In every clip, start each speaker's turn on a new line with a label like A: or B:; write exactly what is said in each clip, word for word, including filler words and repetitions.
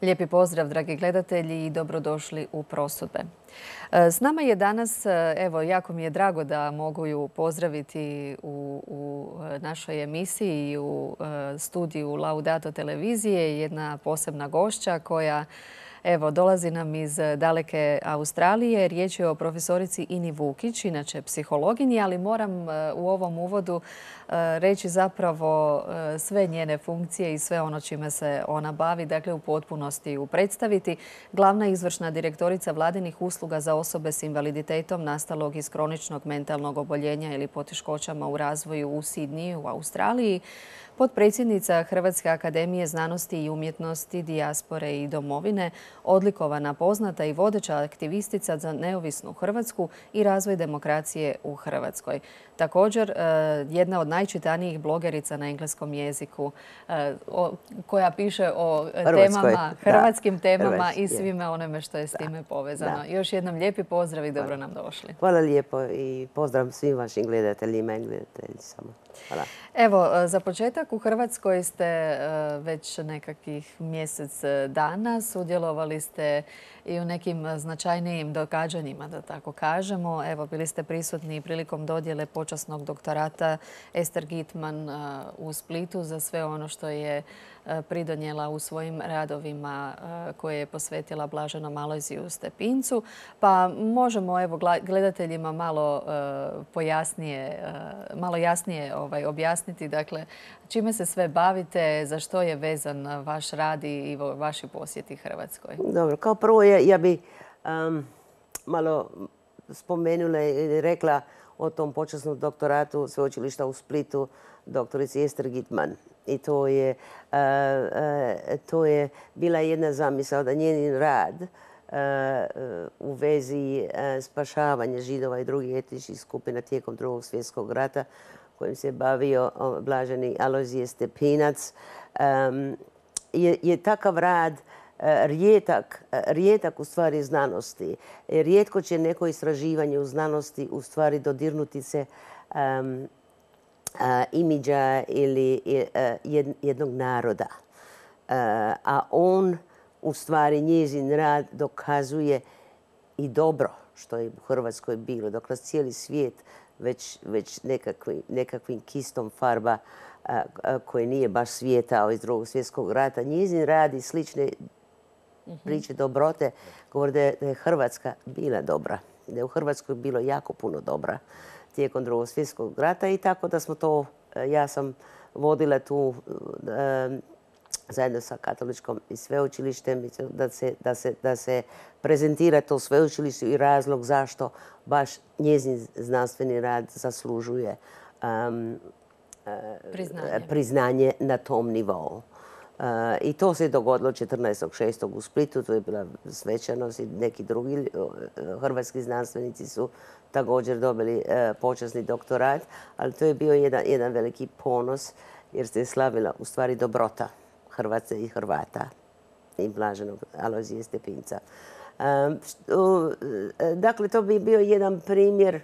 A: Lijepi pozdrav, dragi gledatelji, i dobrodošli u Prosudbe. S nama je danas, evo, jako mi je drago da mogu ju pozdraviti u, u našoj emisiji i u studiju Laudato televizije, jedna posebna gošća koja Evo, dolazi nam iz daleke Australije. Riječ je o profesorici Ini Vukić, inače psihologinji, ali moram u ovom uvodu reći zapravo sve njene funkcije i sve ono čime se ona bavi, dakle u potpunosti ju predstaviti. Glavna izvršna direktorica vladinih usluga za osobe s invaliditetom nastalog iz kroničnog mentalnog oboljenja ili poteškoćama u razvoju u Sidniju u Australiji, potpredsjednica Hrvatske akademije znanosti i umjetnosti, dijaspore i domovine, odlikovana, poznata i vodeća aktivistica za neovisnu Hrvatsku i razvoj demokracije u Hrvatskoj. Također, jedna od najčitanijih blogerica na engleskom jeziku koja piše o temama, hrvatskim temama i svime onome što je s time povezano. Još jednom lijepi pozdrav i dobro nam došli.
B: Hvala lijepo i pozdrav svim vašim gledateljima i gledateljicama. Hvala.
A: Evo, za početak u Hrvatskoj ste već nekakvih mjesec dana. Sudjelovali ste i u nekim značajnijim događanjima, da tako kažemo. Evo, bili ste prisutni prilikom dodjele počasnog doktorata Ester Gitman u Splitu za sve ono što je pridonijela u svojim radovima koje je posvetila blaženom Alojziju Stepincu. Pa možemo evo gledateljima malo pojasnije, malo jasnije ovaj, objasniti dakle čime se sve bavite, za što je vezan vaš rad i vaši posjeti Hrvatskoj.
B: Dobro, kao prvo ja, ja bi um, malo spomenula i rekla o tom počasnom doktoratu sveučilišta u Splitu doktorici Ester Gitman. I to je, uh, uh, to je bila jedna zamisao da njenin rad uh, uh, u vezi uh, spašavanja Židova i drugih etničkih skupina tijekom Drugog svjetskog rata kojim se bavio blaženi Alojzije Stepinac um, je, je takav rad uh, rijetak, uh, rijetak u stvari znanosti. Rijetko će neko istraživanje u znanosti u stvari dodirnuti se um, Uh, imidža ili uh, jednog naroda. Uh, a on, u stvari, njezin rad dokazuje i dobro što je u Hrvatskoj bilo. Dok nas cijeli svijet već, već nekakvi, nekakvim kistom farba uh, koji nije baš svijetao iz Drugog svjetskog rata. Njezin rad i slične priče dobrote govori da je, da je Hrvatska bila dobra. Da je u Hrvatskoj bilo jako puno dobra tijekom Drugog svjetskog rata i tako da smo to, ja sam vodila tu e, zajedno sa katoličkom i sveučilištem da se, da, se, da se prezentira to sveučilište i razlog zašto baš njezin znanstveni rad zaslužuje um,
A: priznanje.
B: priznanje na tom nivou. Uh, I to se dogodilo četrnaestog šestog u Splitu, to je bila svečanost i neki drugi uh, hrvatski znanstvenici su također dobili uh, počasni doktorat, ali to je bio jedan, jedan veliki ponos jer se je slavila u stvari dobrota Hrvatske i Hrvata i blaženog Alojzije Stepinca. Um, uh, dakle, to bi bio jedan primjer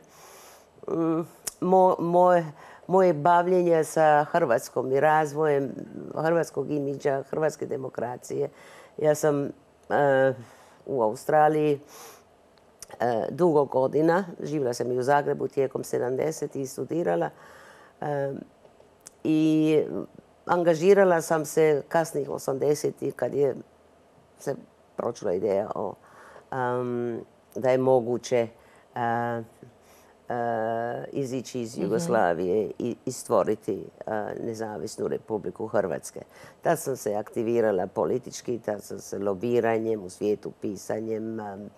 B: um, mo, moje moje bavljenja sa Hrvatskom i razvojem hrvatskog imidža, hrvatske demokracije. Ja sam uh, u Australiji uh, dugo godina, živjela sam i u Zagrebu tijekom sedamdesetih i studirala uh, i angažirala sam se kasnih osamdesetih kad je se pročula ideja o, um, da je moguće uh, Uh, izići iz Jugoslavije i, i stvoriti uh, nezavisnu Republiku Hrvatske. Tad sam se aktivirala politički, tad sam se lobiranjem u svijetu, pisanjem, um,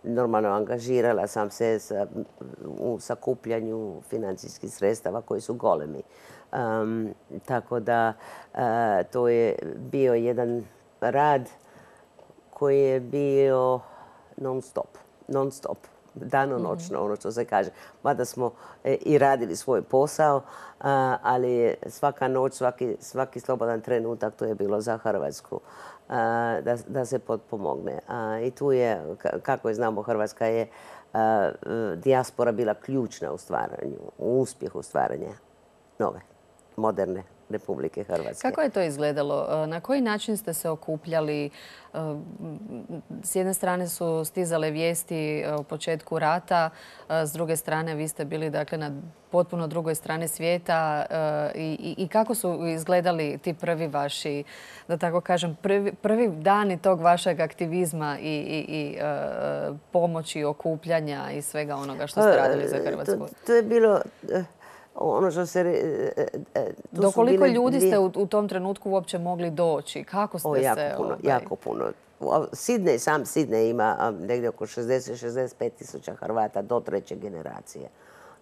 B: normalno angažirala sam se sa, u sakupljanju financijskih sredstava koji su golemi. Um, tako da uh, to je bio jedan rad koji je bio non stop, non stop. Danonoćno, ono što se kaže. Mada smo e, i radili svoj posao, a, ali svaka noć, svaki, svaki slobodan trenutak to je bilo za Hrvatsku a, da, da se potpomogne. A, I tu je, kako je znamo, Hrvatska je a, dijaspora bila ključna u stvaranju, u uspjehu stvaranja nove, moderne Republike Hrvatske.
A: Kako je to izgledalo? Na koji način ste se okupljali? S jedne strane su stizale vijesti o početku rata, s druge strane vi ste bili dakle, na potpuno drugoj strani svijeta. I, i kako su izgledali ti prvi vaši, da tako kažem, prvi, prvi dani tog vašeg aktivizma i, i, i pomoći, okupljanja i svega onoga što ste radili za Hrvatsku?
B: To, to je bilo... Ono što se...
A: Do koliko ljudi ste u, u tom trenutku uopće mogli doći? Kako ste
B: o, jako
A: se...
B: Puno,
A: ovaj...
B: jako puno. Sidney, sam Sidney ima negdje oko šezdeset do šezdeset pet tisuća Hrvata do treće generacije.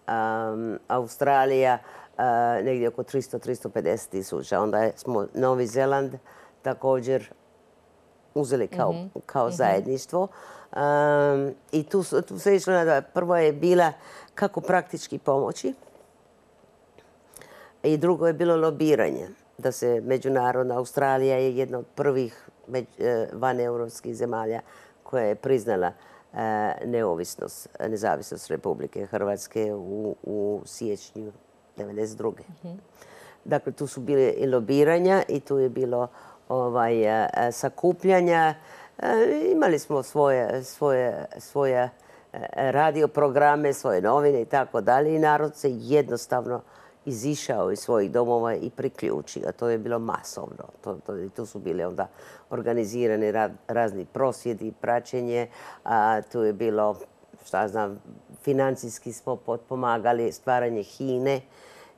B: Um, Australija uh, negdje oko tristo do tristo pedeset tisuća. Onda smo Novi Zeland također uzeli kao, mm-hmm. kao zajedništvo. Um, I tu, tu se išlo na... Prvo je bila kako praktički pomoći. I drugo je bilo lobiranje. Da se međunarodna Australija je jedna od prvih vaneuropskih zemalja koja je priznala neovisnost, nezavisnost Republike Hrvatske u, u siječnju devedeset druge. Mm-hmm. Dakle, tu su bile i lobiranja i tu je bilo ovaj, sakupljanja. Imali smo svoje, svoje, svoje radio programe, svoje novine i tako dalje. I narod se jednostavno izišao iz svojih domova i priključio. To je bilo masovno. To, to, i tu su bile onda organizirani ra, razni prosvjedi, praćenje. A, tu je bilo, šta znam, financijski smo potpomagali stvaranje Hine,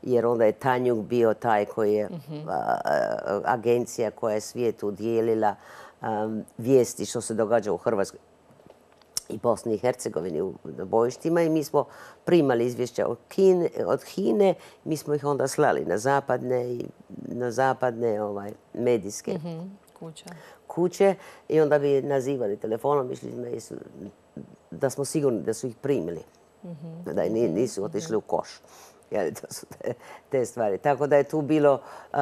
B: jer onda je Tanjug bio taj koji je mm-hmm. a, a, agencija koja je svijetu dijelila a, vijesti što se događa u Hrvatskoj i Bosni i Hercegovini u bojištima i mi smo primali izvješća od Kine, od Hine, mi smo ih onda slali na zapadne i na zapadne ovaj, medijske
A: mm-hmm. kuće.
B: kuće i onda bi nazivali telefonom, mišli su da smo sigurni da su ih primili, mm-hmm. da nisu otišli u koš. Jeli, to su te, te stvari. Tako da je tu bilo, uh,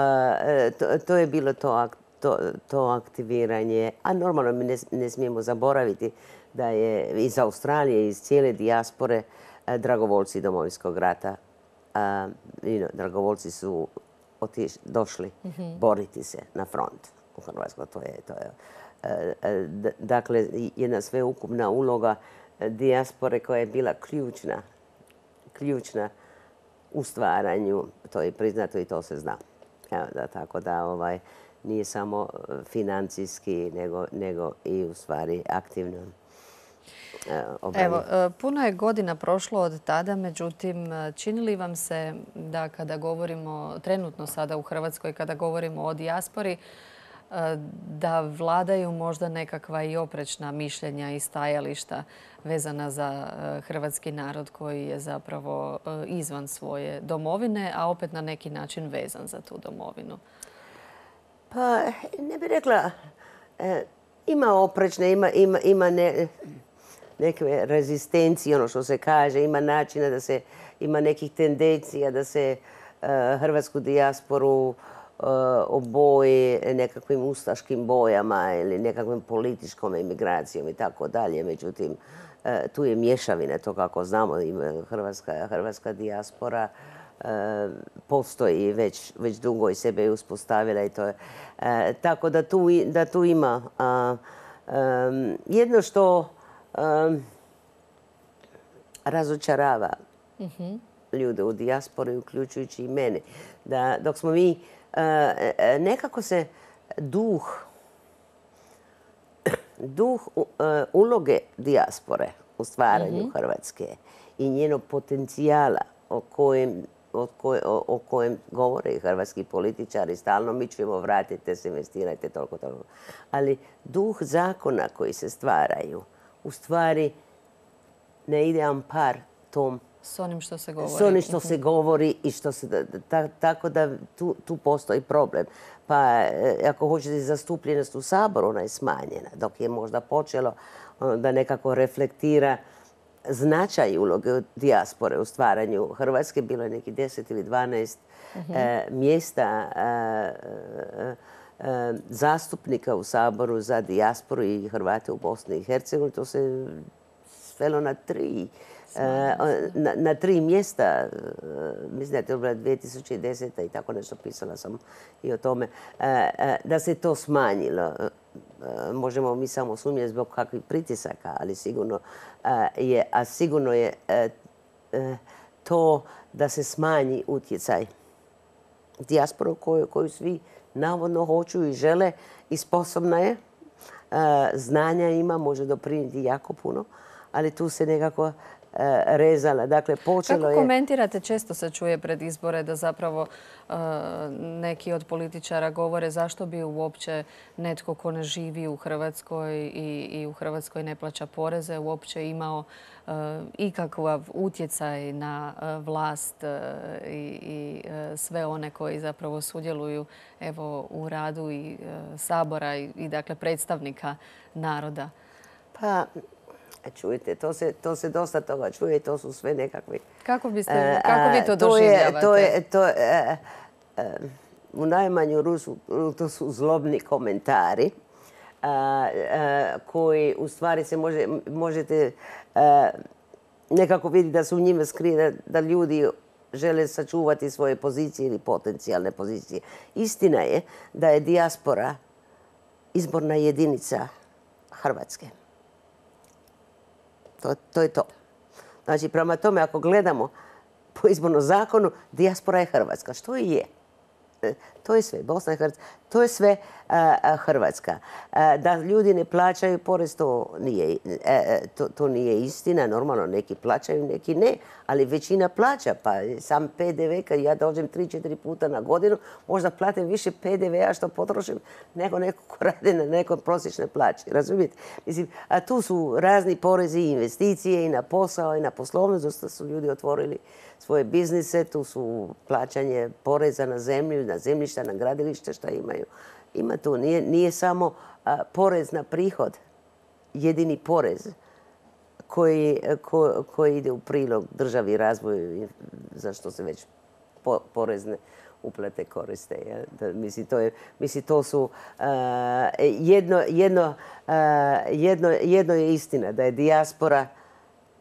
B: to, to je bilo to, to, to aktiviranje, a normalno mi ne, ne smijemo zaboraviti da je iz Australije, iz cijele dijaspore, dragovoljci Domovinskog rata. A, you know, dragovoljci su otiš, došli mm-hmm. boriti se na front u Hrvatskoj. To je, to je, a, dakle, jedna sveukupna uloga dijaspore koja je bila ključna, ključna u stvaranju. To je priznato i to se zna. Evo, da, tako da ovaj, nije samo financijski, nego, nego i u stvari aktivno.
A: Evo, puno je godina prošlo od tada, međutim, čini li vam se da kada govorimo trenutno sada u Hrvatskoj, kada govorimo o dijaspori, da vladaju možda nekakva i oprečna mišljenja i stajališta vezana za hrvatski narod koji je zapravo izvan svoje domovine, a opet na neki način vezan za tu domovinu?
B: Pa, ne bih rekla, ima oprečne, ima, ima, ima ne... neke rezistencije, ono što se kaže, ima načina da se, ima nekih tendencija da se uh, hrvatsku dijasporu uh, oboji nekakvim ustaškim bojama ili nekakvim političkom emigracijom i tako dalje. Međutim, uh, tu je mješavina, to kako znamo, ima hrvatska, hrvatska dijaspora uh, postoji već, već dugo i sebe je uspostavila i to je. Uh, tako da tu, da tu ima uh, um, jedno što Um, razočarava mm-hmm. ljude u dijaspori, uključujući i mene. Da dok smo mi, uh, nekako se duh, duh uh, uloge dijaspore u stvaranju mm-hmm. Hrvatske i njenog potencijala o kojem, o, koj, o, o kojem govore i hrvatski političari stalno, mi ćemo vratite se, investirajte toliko, toliko. Ali duh zakona koji se stvaraju u stvari ne ide am par tom
A: s onim što se govori.
B: S onim što se govori i što se... Ta, tako da tu, tu postoji problem. Pa ako hoćete zastupljenost u Saboru, ona je smanjena. Dok je možda počelo da nekako reflektira značaj uloge dijaspore u stvaranju Hrvatske. Bilo je neki deset ili dvanaest uh-huh. e, mjesta e, e, zastupnika u Saboru za dijasporu i Hrvate u Bosni i Hercegovini. To se svelo na tri na, na tri mjesta, mislim da je to bila dvije tisuće deseta i tako nešto, pisala sam i o tome, da se to smanjilo. Možemo mi samo sumnjati zbog kakvih pritisaka, ali sigurno je, a sigurno je to da se smanji utjecaj dijasporu koju, koju svi navodno hoću i žele i sposobna je. Znanja ima, može doprinijeti jako puno, ali tu se nekako rezala. Dakle, počelo
A: Kako
B: je...
A: komentirate, često se čuje pred izbore da zapravo neki od političara govore zašto bi uopće netko ko ne živi u Hrvatskoj i, i u Hrvatskoj ne plaća poreze uopće imao ikakav utjecaj na vlast i, i sve one koji zapravo sudjeluju evo, u radu i Sabora i, i dakle predstavnika naroda.
B: Pa, čujte, to se, to se dosta toga čuje i to su sve nekakvi...
A: Kako, biste, kako vi to
B: to
A: doživljavate?
B: Je, to je, to je, u najmanju ruku to su zlobni komentari koji u stvari se može, možete nekako vidjeti da su u njima skrive da ljudi žele sačuvati svoje pozicije ili potencijalne pozicije. Istina je da je dijaspora izborna jedinica Hrvatske. To, to je to. Znači, prema tome, ako gledamo po izbornom zakonu, dijaspora je Hrvatska. Što i je? To je sve. Bosna i Hercegovina. To je sve a, Hrvatska. A, da ljudi ne plaćaju porez, to nije, a, to, to nije istina. Normalno, neki plaćaju, neki ne. Ali većina plaća. Pa sam P D V, kad ja dođem tri, četiri puta na godinu, možda platim više P D V-a što potrošim nego neko ko radi na nekoj prosječnoj plaći. Razumijete? Mislim, a tu su razni porezi i investicije i na posao i na poslovnost. Dosta su ljudi otvorili svoje biznise. Tu su plaćanje poreza na zemlju, na zemljišta, na gradilište što imaju. Ima tu. Nije, nije samo a, porez na prihod, jedini porez koji, ko, koji ide u prilog državi i razvoju, za što se već po, porezne uplate koriste. Ja? Da, mislim, to je, mislim, to su a, jedno, jedno, a, jedno, jedno je istina da je dijaspora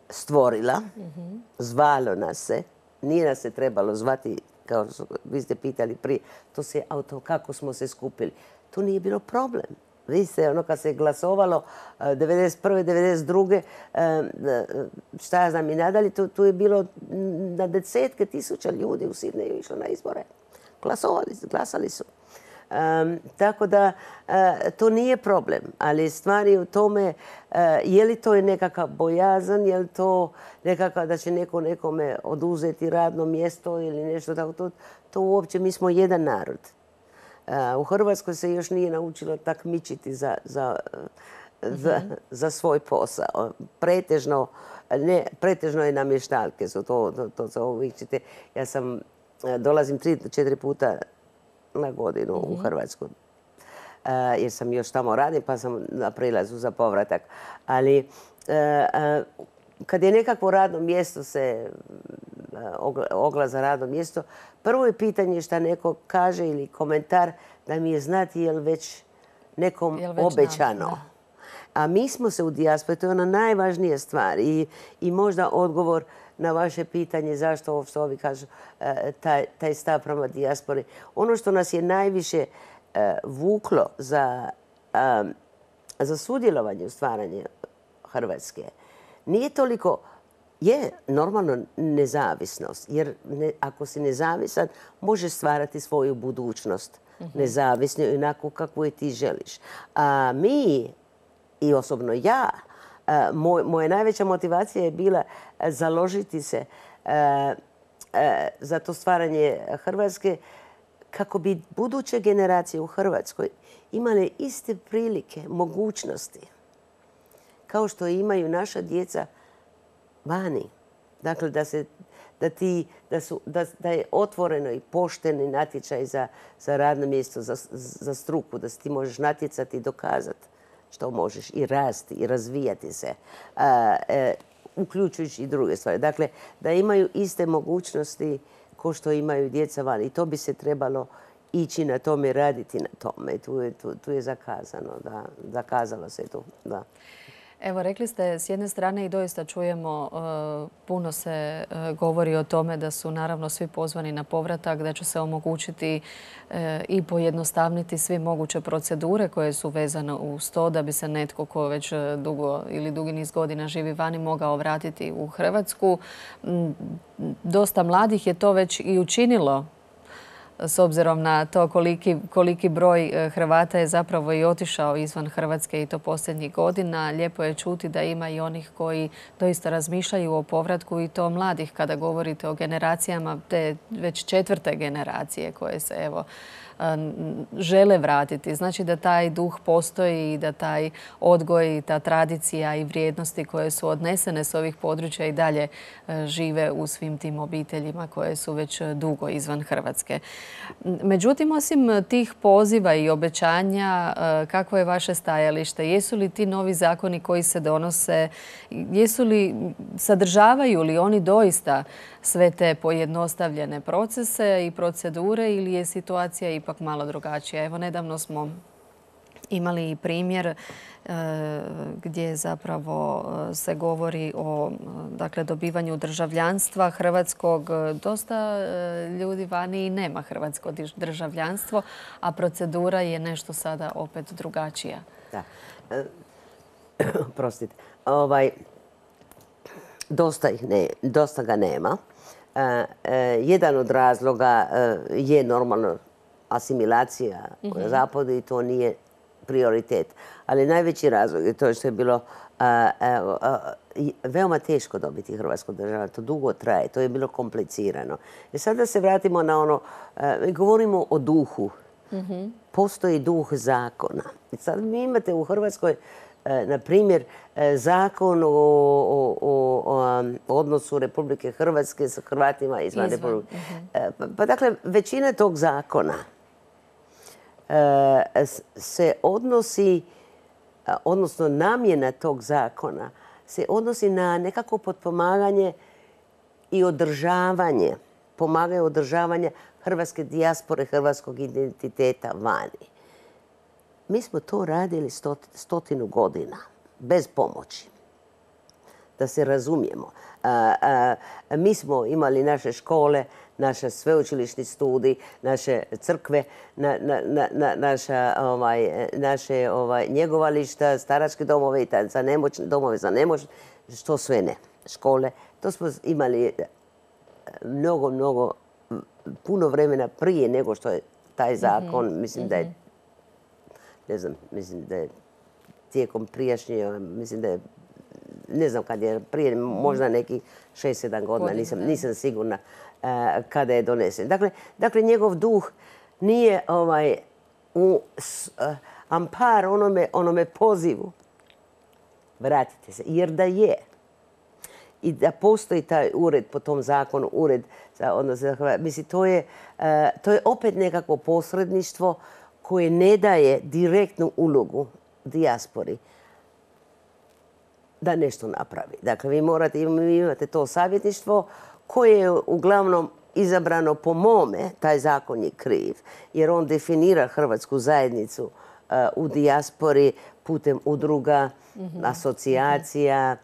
B: stvorila, mm-hmm. zvalo nas se, nije nas se trebalo zvati, kao vi ste pitali prije, to se auto, kako smo se skupili. To nije bilo problem. Vi ste, ono, kad se glasovalo devedeset prve devedeset druge šta ja znam i nadalje, tu, tu je bilo na desetke tisuća ljudi u Sidneju išlo na izbore. Glasovali, glasali su. Um, tako da uh, to nije problem, ali stvar je u tome uh, je li to je nekakav bojazan, je li to nekakav da će neko nekome oduzeti radno mjesto ili nešto tako. To, to uopće, mi smo jedan narod. Uh, u Hrvatskoj se još nije naučilo takmičiti za, za, uh, za, mm-hmm. za svoj posao. Pretežno, ne, pretežno je namještaljke. So to, to, to, to uvijek ćete, ja sam, uh, dolazim tri, četiri puta na godinu mm-hmm. u Hrvatsku. Uh, jer sam još tamo radim, pa sam na prilazu za povratak. Ali uh, uh, kad je nekakvo radno mjesto se uh, oglas za radno mjesto, prvo je pitanje šta neko kaže ili komentar da mi je znati je li već nekom jel već obećano. Nam, a mi smo se u dijaspori, to je ona najvažnija stvar i, i možda odgovor na vaše pitanje zašto ovo što ovi kažu, taj, taj stav prema dijaspori. Ono što nas je najviše uh, vuklo za, um, za sudjelovanje u stvaranju Hrvatske nije toliko, je normalno nezavisnost, jer ne, ako si nezavisan možeš stvarati svoju budućnost mm-hmm. nezavisno i onako kakvu je ti želiš. A mi, i osobno ja, Uh, moj, moja najveća motivacija je bila uh, založiti se uh, uh, za to stvaranje Hrvatske kako bi buduće generacije u Hrvatskoj imale iste prilike, mogućnosti kao što imaju naša djeca vani. Dakle, da, se, da, ti, da, su, da, da je otvoreno i pošteni natječaj za, za radno mjesto, za, za struku, da se ti možeš natjecati i dokazati što možeš i rasti i razvijati se, a, e, uključujući i druge stvari. Dakle, da imaju iste mogućnosti kao što imaju djeca van. I to bi se trebalo ići na tome, raditi na tome. Tu je, tu, tu je zakazano, da, zakazalo se tu, da.
A: Evo, rekli ste, s jedne strane i doista čujemo, puno se govori o tome da su naravno svi pozvani na povratak, da će se omogućiti i pojednostavniti sve moguće procedure koje su vezane uz to da bi se netko ko već dugo ili dugi niz godina živi vani mogao vratiti u Hrvatsku. Dosta mladih je to već i učinilo, s obzirom na to koliki, koliki broj Hrvata je zapravo i otišao izvan Hrvatske i to posljednjih godina. Lijepo je čuti da ima i onih koji doista razmišljaju o povratku i to mladih kada govorite o generacijama te već četvrte generacije koje se evo žele vratiti. Znači da taj duh postoji i da taj odgoj i ta tradicija i vrijednosti koje su odnesene s ovih područja i dalje žive u svim tim obiteljima koje su već dugo izvan Hrvatske. Međutim, osim tih poziva i obećanja, kakvo je vaše stajalište? Jesu li ti novi zakoni koji se donose, jesu li, sadržavaju li oni doista sve te pojednostavljene procese i procedure ili je situacija ipak malo drugačija? Evo, nedavno smo imali i primjer gdje zapravo se govori o dakle, dobivanju državljanstva hrvatskog. Dosta ljudi vani i nema hrvatsko državljanstvo, a procedura je nešto sada opet drugačija.
B: Da. Prostite. Ovaj, dosta, ih ne, dosta ga nema. Jedan od razloga je normalno asimilacija na zapadu i to nije prioritet. Ali najveći razlog je to što je bilo a, a, a, veoma teško dobiti hrvatsko državljanstvo. To dugo traje, to je bilo komplicirano. I sad da se vratimo na ono, a, govorimo o duhu. Mm-hmm. Postoji duh zakona. I sad vi imate u Hrvatskoj, a, na primjer, a, zakon o, o, o, o odnosu Republike Hrvatske sa Hrvatima izvan, izvan. Republike. Mm-hmm. A, pa, pa dakle, većina tog zakona se odnosi, odnosno namjena tog zakona se odnosi na nekako potpomaganje i održavanje, pomagaju održavanje hrvatske dijaspore, hrvatskog identiteta vani. Mi smo to radili stotinu godina, bez pomoći. Da se razumijemo. A, a, mi smo imali naše škole, naše sveučilišni studij, naše crkve, na, na, na, naša, ovaj, naše ovaj, njegovališta, staračke domove i za nemoćne, domove za nemoćne, što sve ne. Škole. To smo imali mnogo, mnogo, puno vremena prije nego što je taj zakon, mm-hmm. mislim da je, ne znam, mislim da je tijekom prijašnje, mislim da je ne znam kad je prije, možda neki šest sedam godina, nisam, nisam sigurna uh, kada je donesen. Dakle, dakle, njegov duh nije ovaj, u uh, ampar onome, onome pozivu. Vratite se, jer da je. I da postoji taj ured po tom zakonu, ured za odnos za Hrvate. Mislim, to je, uh, to je opet nekako posredništvo koje ne daje direktnu ulogu dijaspori da nešto napravi. Dakle, vi morate, vi imate to savjetništvo koje je uglavnom izabrano po mome, taj zakon je kriv, jer on definira hrvatsku zajednicu uh, u dijaspori putem udruga, mm-hmm. asocijacija,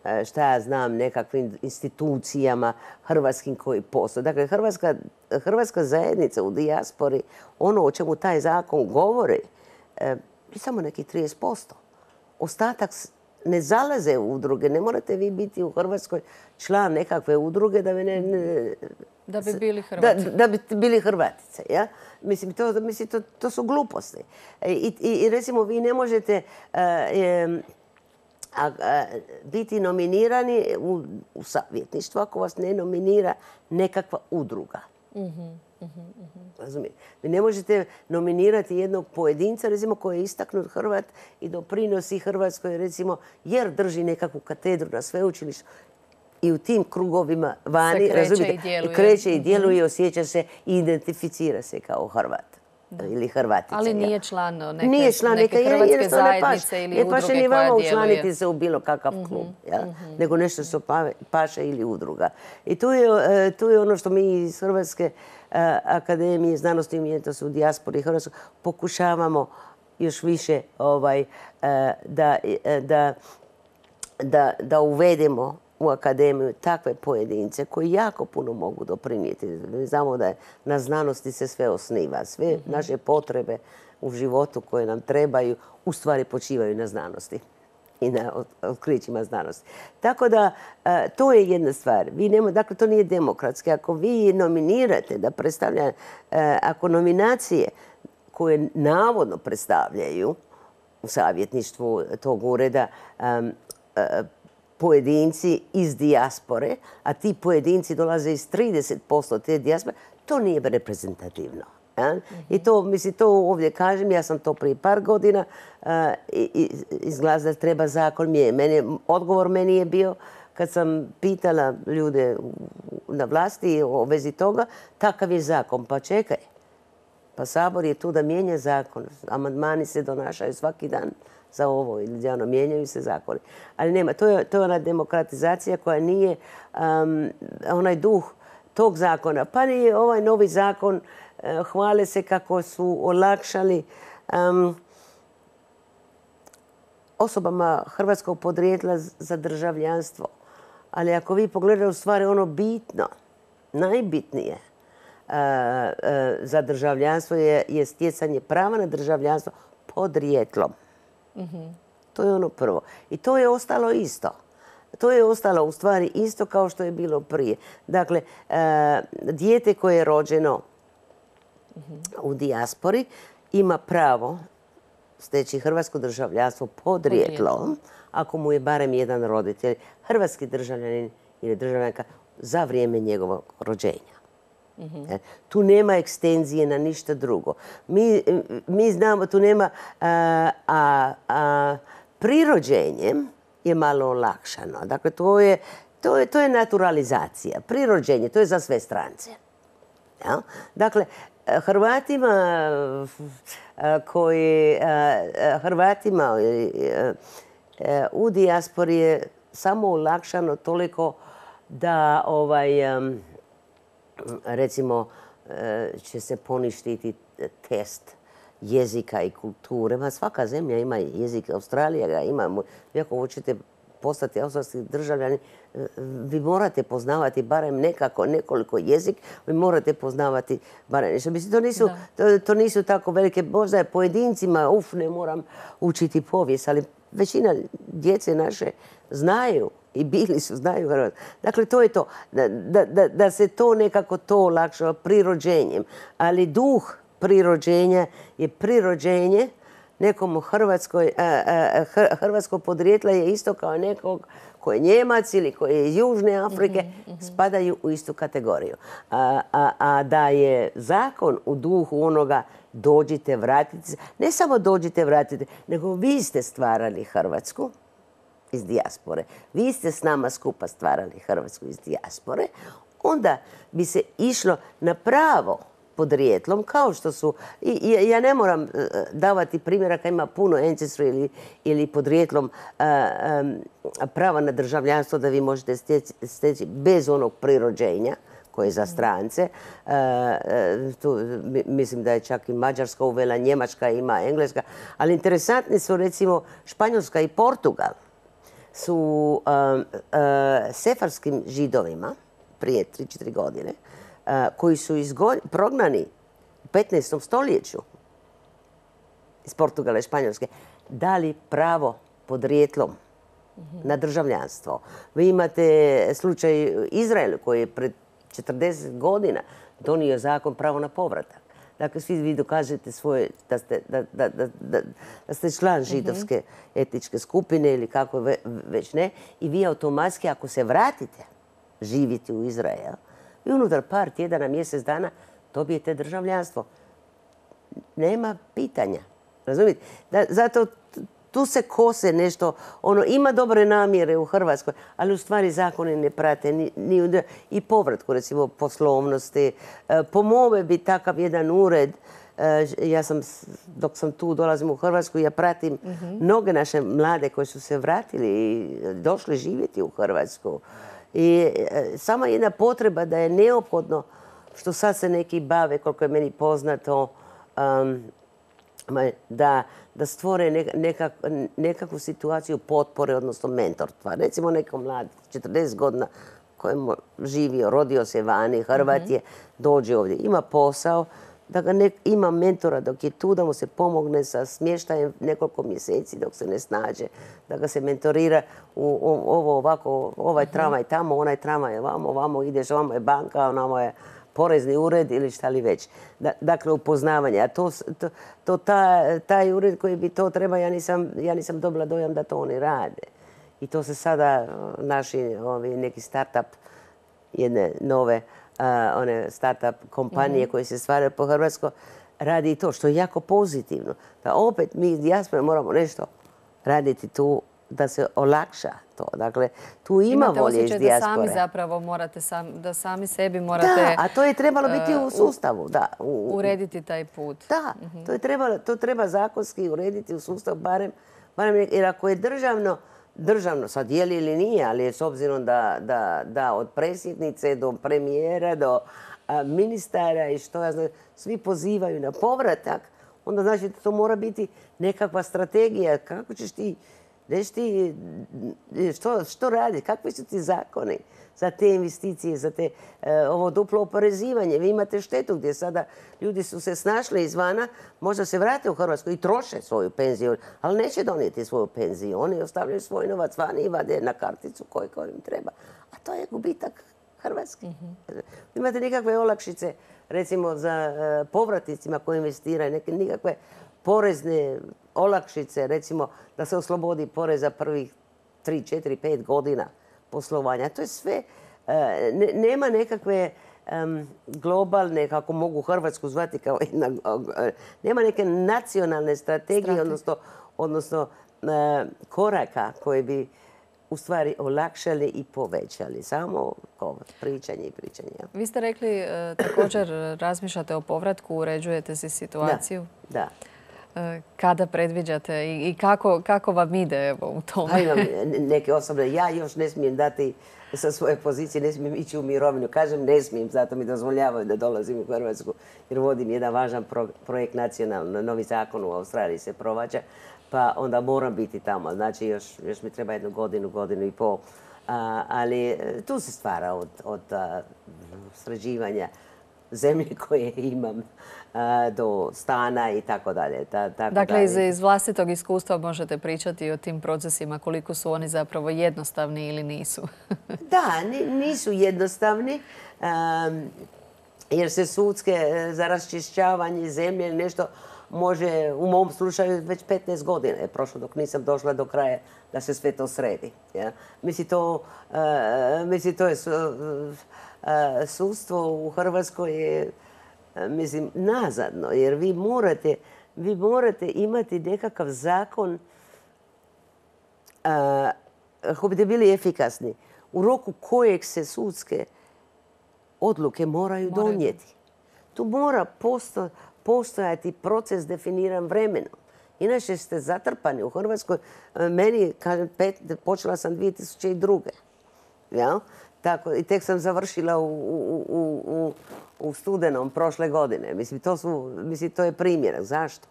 B: uh, šta ja znam, nekakvim institucijama hrvatskim koji postoje. Dakle, hrvatska, hrvatska zajednica u dijaspori, ono o čemu taj zakon govori, uh, je samo neki trideset posto. Ostatak ne zalaze u udruge. Ne morate vi biti u Hrvatskoj član nekakve udruge da bi ne... ne
A: da bi bili Hrvati.
B: Da, da bi bili Hrvatice. Ja? Mislim, to, mislim to, to su gluposti. I, i, i recimo, vi ne možete uh, um, a, a, biti nominirani u, u savjetništvo ako vas ne nominira nekakva udruga. Mm-hmm. Razumijete? Vi ne možete nominirati jednog pojedinca, recimo, koji je istaknut Hrvat i doprinosi Hrvatskoj, recimo, jer drži nekakvu katedru na sveučilištu i u tim krugovima vani,
A: se kreće
B: razumijete,
A: i djeluje.
B: kreće i djeluje, mm-hmm. osjeća se i identificira se kao Hrvat. Da. Ili Hrvatica.
A: Ali nije član neke,
B: nije član
A: neke
B: neke
A: hrvatske zajednice
B: ne
A: ili
B: ne
A: udruge
B: paše ni vama
A: koja
B: učlaniti
A: djeluje.
B: se u bilo kakav
A: Mm-hmm.
B: klub. Ja?
A: Mm-hmm.
B: Nego nešto što pa, paše ili udruga. I tu je, tu je ono što mi iz Hrvatske uh, akademije znanosti i umjetnosti u dijaspori Hrvatskoj pokušavamo još više ovaj, uh, da, uh, da da, da uvedemo u akademiju takve pojedince koji jako puno mogu doprinijeti. Mi znamo da je na znanosti se sve osniva. Sve naše potrebe u životu koje nam trebaju u stvari počivaju na znanosti i na otkrićima znanosti. Tako da to je jedna stvar. Vi nema, dakle, to nije demokratski. Ako vi nominirate da predstavlja, ako nominacije koje navodno predstavljaju u savjetništvu tog ureda pojedinci iz dijaspore, a ti pojedinci dolaze iz trideset posto te dijaspore, to nije reprezentativno. Ja? I to, mislim, to ovdje kažem, ja sam to prije par godina uh, izglasa da treba zakon mijenjati. Odgovor meni je bio, kad sam pitala ljude na vlasti o vezi toga, takav je zakon. Pa čekaj, pa Sabor je tu da mijenja zakon. Amandmani se donašaju svaki dan za ovo ili ono, mijenjaju se zakoni. Ali nema, to je, to je ona demokratizacija koja nije um, onaj duh tog zakona. Pa ni ovaj novi zakon uh, hvale se kako su olakšali um, osobama hrvatskog podrijetla za državljanstvo. Ali ako vi pogledate u stvari ono bitno, najbitnije uh, uh, za državljanstvo je, je stjecanje prava na državljanstvo podrijetlom. Mm-hmm. To je ono prvo. I to je ostalo isto. To je ostalo u stvari isto kao što je bilo prije. Dakle, uh, dijete koje je rođeno mm-hmm. u dijaspori ima pravo steći hrvatsko državljanstvo podrijetlom ako mu je barem jedan roditelj hrvatski državljanin ili državljanka za vrijeme njegovog rođenja. Mm-hmm. Tu nema ekstenzije na ništa drugo. Mi, mi znamo, tu nema, a, a, a prirođenjem je malo olakšano. Dakle, to je, to je, to je naturalizacija. Prirođenje, to je za sve strance. Ja? Dakle, Hrvatima koji, Hrvatima u dijaspori je samo olakšano toliko da ovaj, recimo će se poništiti test jezika i kulture. Ma svaka zemlja ima jezik, Australija ga ima. Vi ako hoćete postati australski državljani, vi morate poznavati barem nekako, nekoliko jezik, vi morate poznavati barem nešto. Mislim, to nisu, to, to nisu tako velike, možda je pojedincima, uf, ne moram učiti povijest, ali većina djece naše znaju i bili su, znaju Hrvatsko. Dakle, to je to. Da, da, da se to nekako to olakšava prirođenjem. Ali duh prirođenja je prirođenje nekom u Hrvatskoj, a, a, hrvatsko podrijetla je isto kao nekog koji je Njemac ili koji je iz Južne Afrike, mm-hmm, mm-hmm. spadaju u istu kategoriju. A, a, a da je zakon u duhu onoga dođite, vratite se, ne samo dođite, vratite, nego vi ste stvarali Hrvatsku iz dijaspore. Vi ste s nama skupa stvarali Hrvatsku iz dijaspore. Onda bi se išlo na pravo podrijetlom, kao što su, i, ja ne moram davati primjeraka, ima puno ancestry ili, ili podrijetlom a, a, prava na državljanstvo da vi možete steći, steći bez onog prirođenja koje je za strance. A, a, tu, mislim da je čak i Mađarska uvela, Njemačka ima, Engleska, ali interesantni su recimo Španjolska i Portugal su a, a, sefarskim židovima prije tri četiri godine koji su izgo... prognani u petnaestom stoljeću iz Portugala i Španjolske, dali pravo podrijetlom mm-hmm. na državljanstvo. Vi imate slučaj Izrael koji je pred četrdeset godina donio zakon pravo na povratak. Dakle, svi vi dokažete svoje, da ste, da, da, da, da ste član židovske mm-hmm. etničke skupine ili kako ve, već ne. I vi automatski, ako se vratite živjeti u Izrael, i unutar par tjedana, mjesec dana dobijete državljanstvo. Nema pitanja. Razumite? Da, zato tu se kose nešto. Ono, ima dobre namjere u Hrvatskoj, ali u stvari zakoni ne prate ni, ni i povratku, recimo, poslovnosti. E, po mome bi takav jedan ured, e, ja sam, dok sam tu, dolazim u Hrvatsku, ja pratim mm-hmm. mnoge naše mlade koji su se vratili i došli živjeti u Hrvatsku. I e, sama jedna potreba da je neophodno, što sad se neki bave, koliko je meni poznato, um, da, da stvore nekak, nekakvu situaciju potpore, odnosno mentorstva. Recimo neko mlad, četrdeset godina, kojemu živio, rodio se vani, Hrvat je, dođe ovdje, ima posao, da ga ne, ima mentora dok je tu, da mu se pomogne sa smještajem nekoliko mjeseci dok se ne snađe, da ga se mentorira u ovo ovako, ovaj tramvaj tamo, onaj tramvaj vamo, ovamo ideš, ovamo je banka, onamo je porezni ured ili šta li već. Da, dakle, upoznavanje. A to, to, to ta, taj ured koji bi to treba, ja nisam, ja nisam dobila dojam da to oni rade. I to se sada naši ovi, neki start-up, jedne nove uh, one start-up kompanije mm-hmm. koje se stvaraju po Hrvatskoj, radi i to što je jako pozitivno. Da opet mi iz dijaspore moramo nešto raditi tu da se olakša to. Dakle, tu ima volje iz dijaspore.
A: Imate osjećaj da sami zapravo morate, sam, da sami sebi morate...
B: Da, a to je trebalo biti u sustavu. Da, u,
A: urediti taj put.
B: Da, mm-hmm. to, je trebalo, to treba zakonski urediti u sustavu, barem, barem jer ako je državno, državno, sad je li ili nije, ali je s obzirom da, da, da od predsjednice do premijera, do a, ministara i što ja znam, svi pozivaju na povratak, onda znači da to mora biti nekakva strategija. Kako ćeš ti, ti što, što radi, kakvi su ti zakoni za te investicije, za te, e, ovo duplo oporezivanje. Vi imate štetu gdje sada ljudi su se snašli izvana, možda se vrate u Hrvatsku i troše svoju penziju, ali neće donijeti svoju penziju. Oni ostavljaju svoj novac vani i vade na karticu koju im treba. A to je gubitak Hrvatski. Mm-hmm. Imate nikakve olakšice, recimo za uh, povratnicima koji investiraju, neke nikakve porezne olakšice, recimo da se oslobodi poreza prvih tri, četiri, pet godina poslovanja. To je sve, uh, ne, nema nekakve um, globalne, kako mogu Hrvatsku zvati kao jedna, uh, nema neke nacionalne strategije, Strate. odnosno, odnosno uh, koraka koje bi u stvari olakšali i povećali. Samo pričanje i pričanje.
A: Vi ste rekli e, također razmišljate o povratku, uređujete si situaciju.
B: Da. da.
A: E, kada predviđate i, i kako, kako vam ide evo, u tome?
B: A imam neke osobne. Ja još ne smijem dati sa svoje pozicije, ne smijem ići u mirovinu. Kažem ne smijem, zato mi dozvoljavaju da dolazim u Hrvatsku jer vodim jedan važan pro, projekt nacionalno. Novi zakon u Australiji se provađa. Pa onda moram biti tamo. Znači, još, još mi treba jednu godinu, godinu i pol. A, ali tu se stvara od, od a, sređivanja zemlje koje imam a, do stana i tako dalje. Ta, tako
A: dakle,
B: dalje.
A: Iz, iz vlastitog iskustva možete pričati o tim procesima, koliko su oni zapravo jednostavni ili nisu?
B: Da, nisu jednostavni. Um, jer se sudske za raščišćavanje zemlje ili nešto može, u mom slučaju, već petnaest godina je prošlo dok nisam došla do kraja da se sve to sredi. Ja? Mislim, to, uh, mislim, to je su, uh, sudstvo u Hrvatskoj je, uh, mislim, nazadno, jer vi morate, vi morate imati nekakav zakon uh, kako biste bili efikasni, u roku kojeg se sudske odluke moraju, moraju. donijeti. Tu mora posto, postojati proces definiran vremenom. Inače ste zatrpani u Hrvatskoj. Meni, kažem, pet, počela sam dvije tisuće druge. Ja? Tako, i tek sam završila u, u, u, u, u studenom prošle godine. Mislim, to, su, mislim, to je primjer. Zašto?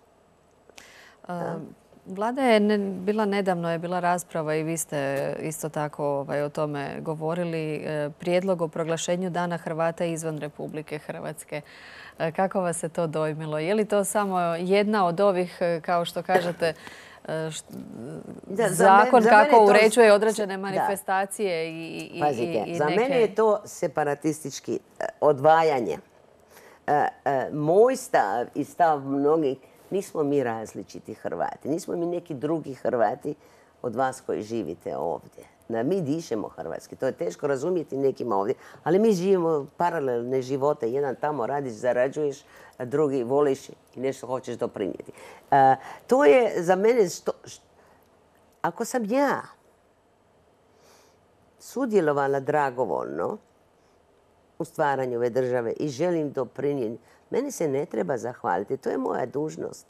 A: Ja? Vlada je ne, bila nedavno, je bila rasprava i vi ste isto tako ovaj, o tome govorili. Prijedlog o proglašenju Dana Hrvata izvan Republike Hrvatske. Kako vas se to dojmilo? Je li to samo jedna od ovih, kao što kažete, št, da, zakon
B: za mene,
A: kako
B: za
A: uređuje
B: to,
A: određene manifestacije i, i,
B: Pazite,
A: i, i
B: za
A: neke...
B: mene je to separatistički odvajanje. Moj stav i stav mnogih, nismo mi različiti Hrvati. Nismo mi neki drugi Hrvati od vas koji živite ovdje. Da mi dišemo hrvatski. To je teško razumjeti nekima ovdje. Ali mi živimo paralelne živote. Jedan tamo radiš, zarađuješ, a drugi voliš i nešto hoćeš doprinijeti. A, to je za mene... Što, što, ako sam ja sudjelovala dragovoljno u stvaranju ove države i želim doprinijeti, meni se ne treba zahvaliti. To je moja dužnost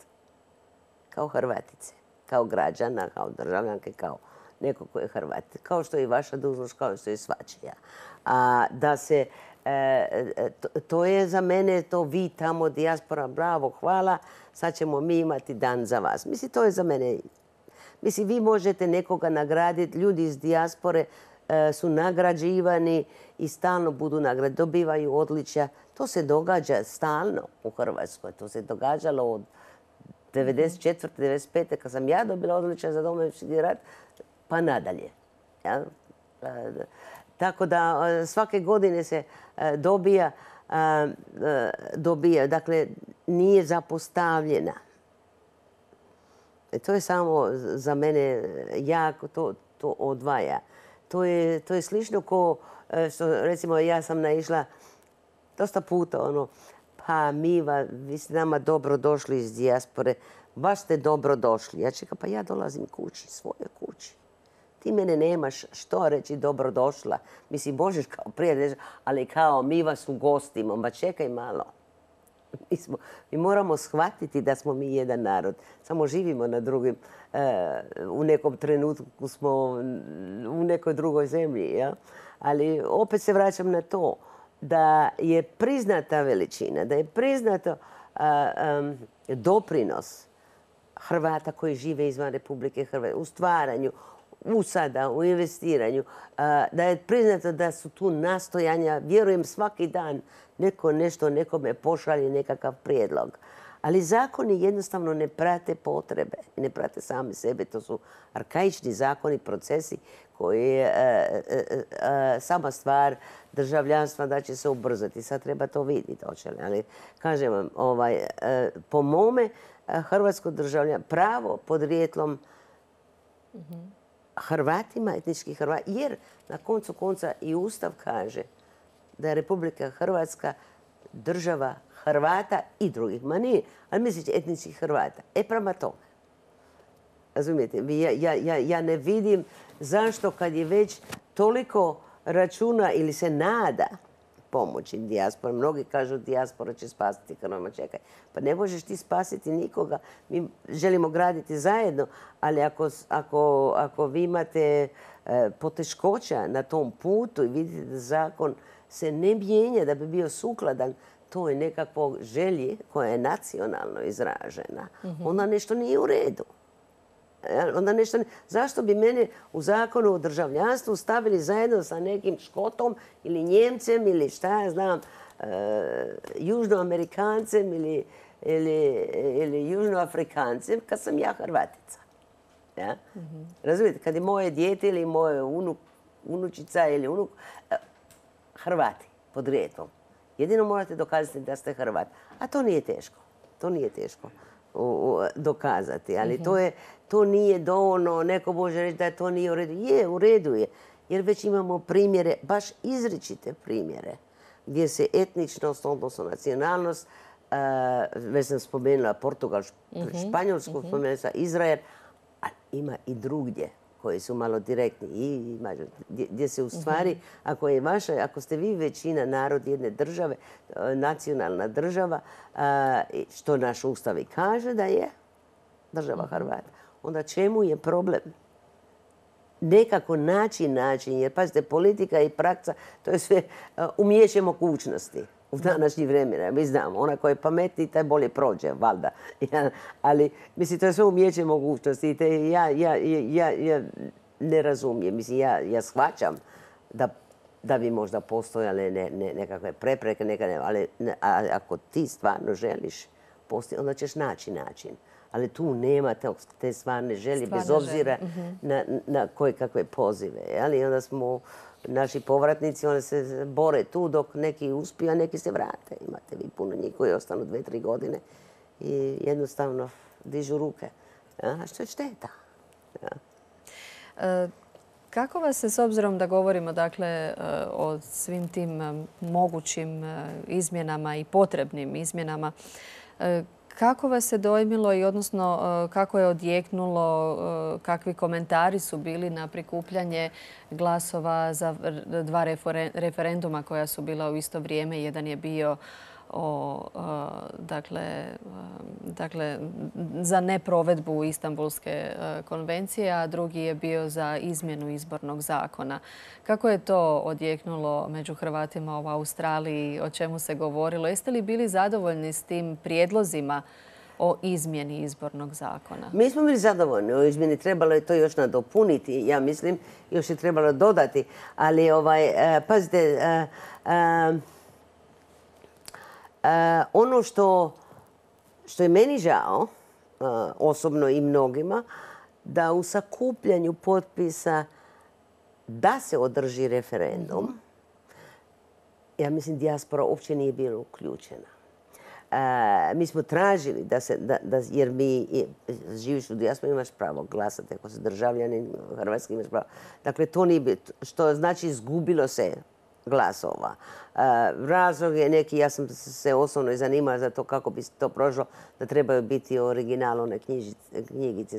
B: kao Hrvatice, kao građana, kao državljanke, kao neko ko je Hrvat. Kao što je i vaša dužnost, kao što je svačija. A da se To je za mene to vi tamo dijaspora, bravo, hvala, sad ćemo mi imati dan za vas. Mislim, to je za mene. Mislim, vi možete nekoga nagraditi, ljudi iz dijaspore su nagrađivani i stalno budu nagrade, dobivaju odličja. To se događa stalno u Hrvatskoj. To se događalo od devedeset četvrte. devedeset pete. kad sam ja dobila odličja za Domovinski rat, pa nadalje. Ja? Tako da svake godine se dobija, dobija, dakle nije zapostavljena. To je samo za mene jako, to, to odvaja. To je, to je slično ko, što recimo ja sam naišla dosta puta ono, pa Miva, vi ste nama dobro došli iz dijaspore, baš ste dobro došli. Ja čekam, pa ja dolazim kući, svoje kući. Ti mene nemaš što reći dobro došla. Mislim, možeš kao prijatelj, ali kao mi vas ugostimo. Ma čekaj malo. Mi, smo, mi moramo shvatiti da smo mi jedan narod. Samo živimo na drugim, e, u nekom trenutku smo u nekoj drugoj zemlji. Ja? Ali opet se vraćam na to da je priznata veličina, da je priznato a, a, doprinos Hrvata koji žive izvan Republike Hrvatske u stvaranju, u sada, u investiranju, da je priznato da su tu nastojanja, vjerujem svaki dan neko nešto nekome pošalje nekakav prijedlog. Ali zakoni jednostavno ne prate potrebe, ne prate sami sebe. To su arkaični zakoni, procesi koji je sama stvar državljanstva da će se ubrzati. Sad treba to vidjeti, ali kažem vam, ovaj, po mome hrvatsko državljanstvo, pravo podrijetlom Hrvatima, etnički Hrvati, jer na koncu konca i Ustav kaže da je Republika Hrvatska država Hrvata i drugih. Ma nije, ali mislići etničkih Hrvata. E prema tome. Razumijete? Ja, ja, ja, ja ne vidim zašto kad je već toliko računa ili se nada pomoći dijaspora. Mnogi kažu dijaspora će spasiti Hrvata. Čekaj, pa ne možeš ti spasiti nikoga. Mi želimo graditi zajedno, ali ako, ako, ako vi imate e, poteškoća na tom putu i vidite da zakon se ne mijenja da bi bio sukladan to je nekakvo želje koja je nacionalno izražena, mm-hmm. onda nešto nije u redu. Onda nešto ne... Zašto bi mene u zakonu o državljanstvu stavili zajedno sa nekim Škotom ili Njemcem ili šta ja znam, e, Južnoamerikancem ili, ili, ili Južnoafrikancem kad sam ja Hrvatica? Ja? Mm-hmm. Razumijete, kad je moje dijete ili moje unuk, unučica ili unuk, e, Hrvati podrijetlom. Jedino morate dokazati da ste Hrvat. A to nije teško. To nije teško dokazati. Ali mm-hmm. to, je, to nije dovoljno. Neko može reći da to nije u redu. Je, u redu je. Jer već imamo primjere, baš izričite primjere, gdje se etničnost, odnosno nacionalnost, uh, već sam spomenula Portugal, mm-hmm. Španjolsku, mm-hmm. spomenula sam Izrael, a ima i drugdje koji su malo direktni i gdje se u stvari, ako je vaša, ako ste vi većina narod jedne države, nacionalna država, što naš Ustav i kaže da je država Hrvata, onda čemu je problem? Nekako naći način, jer pazite, politika i praksa, to je sve umijeće mogućnosti u današnjih vremena. Mi znamo, ona koja je pametniji, taj bolje prođe, valjda. Ja, ali, mislim, to je sve umijeće mogućnosti. Te ja, ja, ja, ja ne razumijem. Mislim, ja, ja shvaćam da, da bi možda postojale ne, ne, nekakve prepreke, nekakve, ali ne, a, ako ti stvarno želiš postoji, onda ćeš naći način. Ali tu nema te, te stvarne želje, stvarne bez obzira želje. na, na koje kakve pozive. Ali onda smo... Naši povratnici, oni se bore tu dok neki uspiju, a neki se vrate. Imate vi puno njih koji ostanu dve, tri godine i jednostavno dižu ruke. A što je šteta? Ja.
A: E, kako vas se, s obzirom da govorimo dakle, o svim tim mogućim izmjenama i potrebnim izmjenama, kako vas se dojmilo i odnosno kako je odjeknulo, kakvi komentari su bili na prikupljanje glasova za dva referenduma koja su bila u isto vrijeme. Jedan je bio o, dakle, dakle, za neprovedbu Istanbulske konvencije, a drugi je bio za izmjenu izbornog zakona. Kako je to odjeknulo među Hrvatima u Australiji? O čemu se govorilo? Jeste li bili zadovoljni s tim prijedlozima o izmjeni izbornog zakona?
B: Mi smo bili zadovoljni o izmjeni. Trebalo je to još nadopuniti, ja mislim. Još je trebalo dodati. Ali, ovaj, pazite, ono što, što je meni žao, osobno i mnogima, da u sakupljanju potpisa da se održi referendum, ja mislim dijaspora uopće nije bila uključena. Mi smo tražili da se, da, da, jer mi živiš u dijaspori, imaš pravo glasati, ako si državljanin hrvatski imaš pravo. Dakle, to nije bilo, što znači izgubilo se glasova. Razlog je neki, ja sam se osobno zanimala za to kako bi to prošlo, da trebaju biti originalne knjigice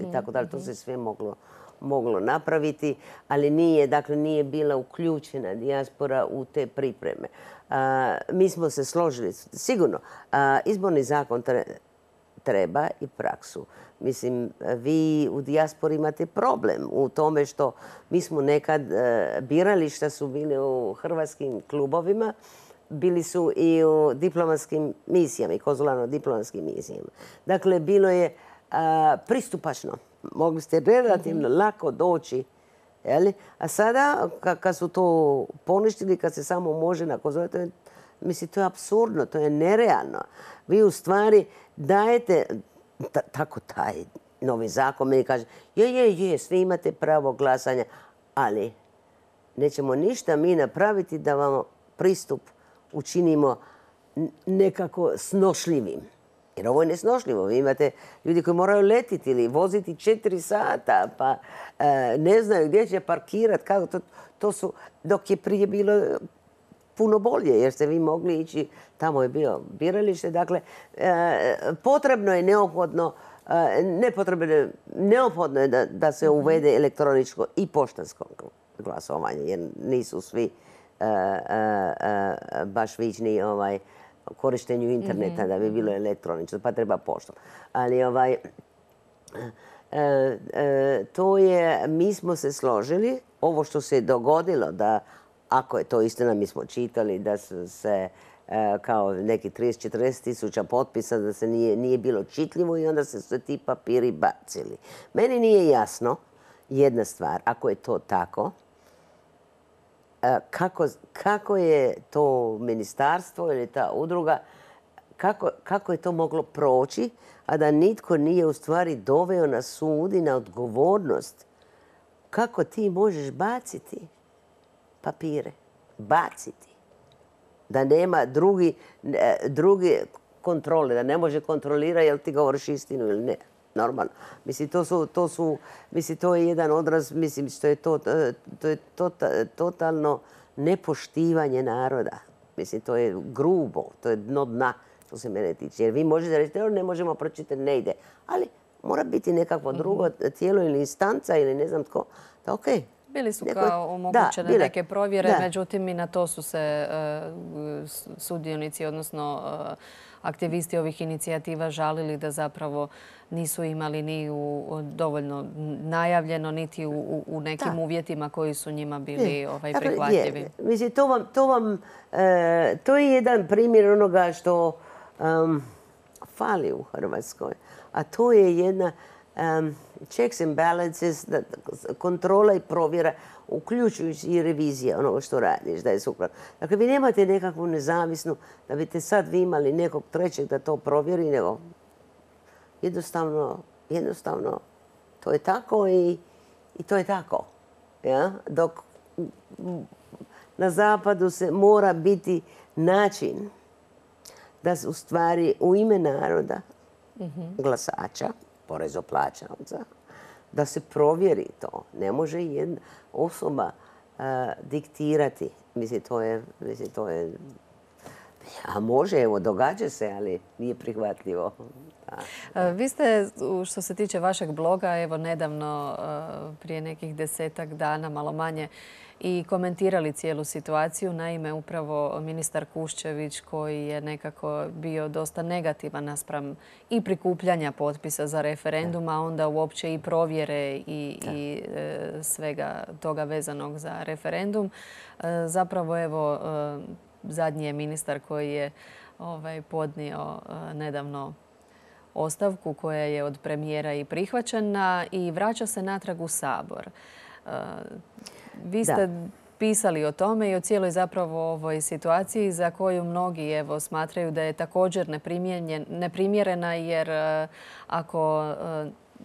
B: i tako dalje. To se sve moglo moglo napraviti, ali nije, dakle, nije bila uključena dijaspora u te pripreme. Mi smo se složili, sigurno, izborni zakon treba i praksu. Mislim, vi u dijaspori imate problem u tome što mi smo nekad birali šta su bili u hrvatskim klubovima, bili su i u diplomatskim misijama i konzularno-diplomatskim misijama. Dakle, bilo je pristupačno. Mogli ste relativno lako doći. A sada, kad su to poništili, kad se samo može na konzulatu, mislim, to je apsurdno, to je nerealno. Vi u stvari dajete, tako taj novi zakon meni kaže, je, je, je, svi imate pravo glasanja, ali nećemo ništa mi napraviti da vam pristup učinimo nekako snošljivim. Jer ovo je nesnošljivo. Vi imate ljudi koji moraju letiti ili voziti četiri sata, pa ne znaju gdje će parkirati. Kako to, to su, dok je prije bilo puno bolje, jer ste vi mogli ići, tamo je bio biralište. Dakle, potrebno je neophodno, nepotrebno je, neophodno je da, da se uvede elektroničko i poštansko glasovanje, jer nisu svi baš vični ovaj, korištenju interneta da bi bilo elektronično, pa treba poštom. Ali ovaj, to je, mi smo se složili, ovo što se je dogodilo, da ako je to istina, mi smo čitali da su se kao neki trideset do četrdeset tisuća potpisa, da se nije, nije bilo čitljivo i onda se sve ti papiri bacili. Meni nije jasno jedna stvar, ako je to tako, Kako, kako je to ministarstvo ili ta udruga, kako, kako je to moglo proći, a da nitko nije u stvari doveo na sud i na odgovornost. Kako ti možeš baciti papire? Baciti. Da nema drugi, drugi kontrole, da ne može kontrolirati jel ti govoriš istinu ili ne. Normalno. Mislim, to su, to su, mislim, to je jedan odraz, mislim, što je to, to je tota, totalno nepoštivanje naroda. Mislim, to je grubo, to je dno dna, što se mene tiče. Jer vi možete reći, ne možemo pročitati, ne ide. Ali mora biti nekakvo drugo tijelo ili instanca ili ne znam tko. Da, okej. Okay.
A: Bili su kao omogućene neke provjere, međutim i na to su se sudionici, odnosno aktivisti ovih inicijativa žalili da zapravo nisu imali ni u dovoljno najavljeno, niti u, u nekim da. uvjetima koji su njima bili ovaj, prihvatljivi.
B: Je. Mislim, to, vam, to, vam, e, to je jedan primjer onoga što um, fali u Hrvatskoj. A to je jedna um, checks and balances, da, kontrola i provjera, uključujući i revizija onoga što radiš, da je sukladno. Dakle, vi nemate nekakvu nezavisnu, da biste sad vi imali nekog trećeg da to provjeri, nego jednostavno, jednostavno to je tako i, i to je tako. Ja? Dok na zapadu se mora biti način da se u stvari u ime naroda, mm-hmm. glasača, porezoplaćavca, da se provjeri to. Ne može jedna osoba uh, diktirati. Mislim, to je, mislim, to je A može, evo, događa se, ali nije prihvatljivo.
A: Da. Vi ste, što se tiče vašeg bloga, evo nedavno, prije nekih desetak dana, malo manje, i komentirali cijelu situaciju. Naime, upravo ministar Kuščević, koji je nekako bio dosta negativan naspram i prikupljanja potpisa za referendum, a onda uopće i provjere i, i e, svega toga vezanog za referendum. E, zapravo, evo, e, zadnji je ministar koji je ovaj, podnio e, nedavno ostavku koja je od premijera i prihvaćena i vraća se natrag u Sabor. E, Vi ste da. pisali o tome i o cijeloj zapravo ovoj situaciji za koju mnogi evo, smatraju da je također neprimjerena jer ako